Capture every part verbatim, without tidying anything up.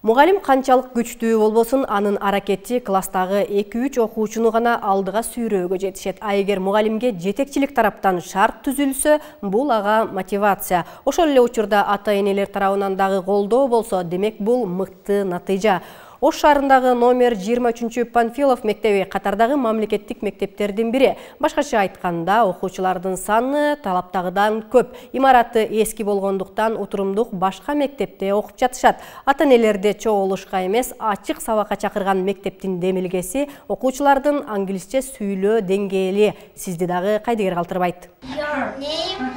Мугалим канчалык күчтүү болбосун, анын аракети класстагы эки үч окуучуну гана алдыга сүйрөөгө жетишет. А эгер мугалимге жетекчилик тараптан шарт түзүлсө, бул ага мотивация. Ошол эле учурда ата-энелер тарабынан дагы колдоо болсо, демек бул мыкты натыйжа. Ош шаарындагы номер жыйырма үчүнчү Панфилов мектеби катардагы мамлекеттик мектептердин бири. Башкача айтканда, окуучулардын саны талаптагыдан көп. Имараты эски болгондуктан отурумдук башка мектепте окуп жатышат. Ата-энелерди чогулушка эмес, ачык сабакка чакырган мектептин демилгеси окуучулардын англисче сүйлөө деңгээли. Сизди дагы кайдыгер калтырбайт. Your name?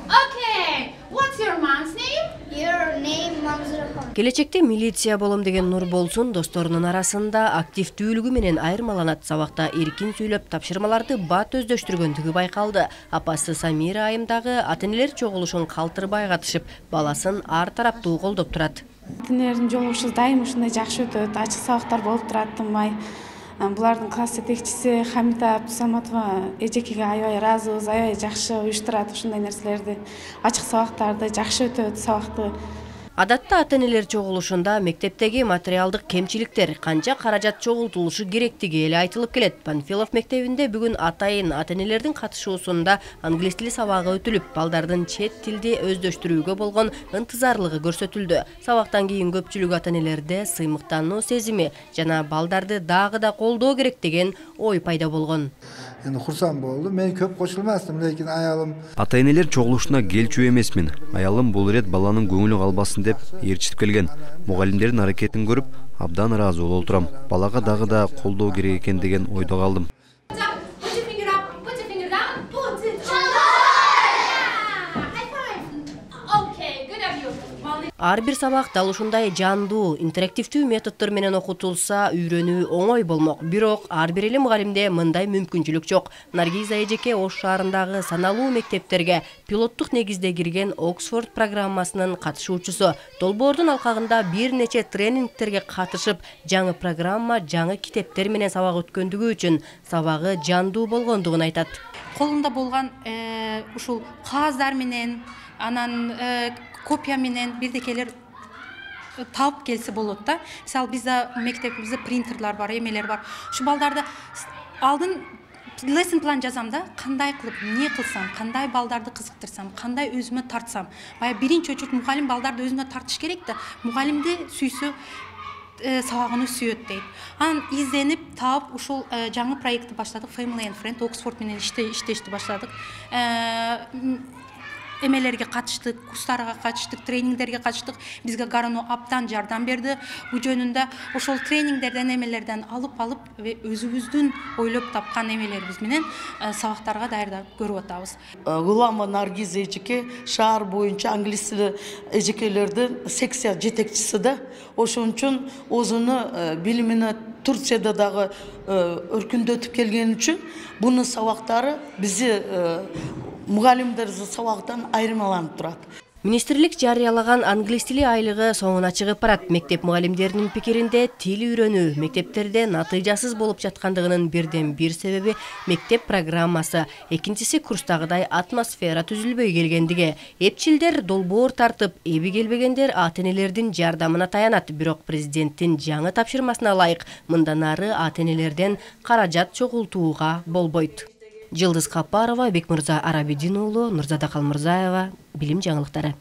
Okay. What's your mom's name? Your name, Manzuraхан. Келечекте милиция болом деген Нурболсун досторунун арасында активдүүлүгү менен айырмаланат. Сабакта эркин сүйлөп, тапшырмаларды бат өздөштүргөндүгү байкалды. Апасы Самира айым дагы ата-энелер чогулушун калтырбай катышып, баласын ар тараптуу колдоп турат. Ата-энелердин жолугушубуз дайым ушундай жакшы өтөт, ачык сабактар болуп турат, тынбай. Булардын класс жетекчиси Хамита Абдусаматова эжекеге аябай ыраазыбыз, аябай жакшы уюштурат ушундай нерселерди. Ачык сабактарды жакшы өтөт, сабакты. Адатта ата-энелер чогулушунда мектептеги материалдык кемчиликтер, канча каражат чогултулушу керектиги эле айтылып келет. Панфилов мектебинде бүгүн атайын ата-энелердин катышуусунда англис тили сабагы өтүлүп, балдардын чет тилди өздөштүрүүгө болгон ынтызарлыгы көрсөтүлдү. Сабактан кийин көпчүлүк ата-энелерде сыймыктануу сезими жана балдарды дагы да колдоо керек деген ой пайда болгон. Эми курсам болду. Мен көп кошулмастым, лекин аялым ата-энелер чогулушуна келчү эмесмин. Аялым бул ирет баланын көңүлү калбасын деп ээрчитип келген. Мугалимдердин аракетин көрүп, абдан ыраазы болуп турам. Балага дагы да колдоо керек экен деген ойдо калдым. Ар бир сабак дал ушундай жандуу, интерактивдүү методдор менен окутулса, үйрөнүү оңой болмок. Бирок ар бир эле мугалимде мындай мүмкүнчүлүк жок. Наргиза эжеке Ош шаарындагы саналуу мектептерге пилоттук негизде кирген Оксфорд программасынын катышуучусу. Долбоордун алкагында бир нече тренингтерге катышып, жаңы программа, жаңы китептер менен сабак өткөндүгү үчүн сабагы жандуу болгондугун айтат. Колунда болгон ушул кагаздар менен, анан копия менен бирдекелер таап келсе болот да. Мисалы бизде мектебибизде принтерлар бар, эмелер бар. Ушу балдарды алдын lesson план жазам да, кандай кылып, эмне кылсам, кандай балдарды кызыктырсам, кандай өзүмө тартсам. Бая биринчи очередь мугалим балдарды өзүнө тартыш керек да. Мугалимди сүйсө сабагын сүйөт дейт. Анан изденип таап ушул жаңы проектти баштадык. Family and Friend Оксфорд менен иштешти баштадык. Эмелерге катыштык, курстарга катыштык, тренингдерге катыштык. Бизге Гарано абдан жардам берди. Бул жөнүндө ошол тренингдерден, эмелерден алып алып, өзүбүздүн ойлоп тапкан эмелерибиз менен сабактарга даярдап көрүп атабыз. Гулама Наргиза эжеке шаар боюнча англис тили эжекелердин секция жетекчиси да. Ошон үчүн өзүнүн билимине Турцияда дагы өркүндөтүп келген үчүн бунун сабактары бизи мугалимдер сабактан айырмаланып турат. Министрлик жарыялаган англис тили айлыгы соңуна чыгып барат. Мектеп мугалимдеринин пикиринде тил үйрөнүү мектептерде натыйжасыз болуп жаткандыгынын бирден бир себеби мектеп программасы, экинчиси курстагыдай атмосфера түзүлбөй келгендиги. Эпчилдер долбоор тартып, эби келбегендер ата-энелердин жардамына таянат. Бирок президенттин жаңы тапшырмасына ылайык мындан ары ата-энелерден каражат чогултууга болбойт. Жылдыз Капарова, Бекмырза Арабидин уулу, Нурзада Калмырзаева, билим жаңылыктары.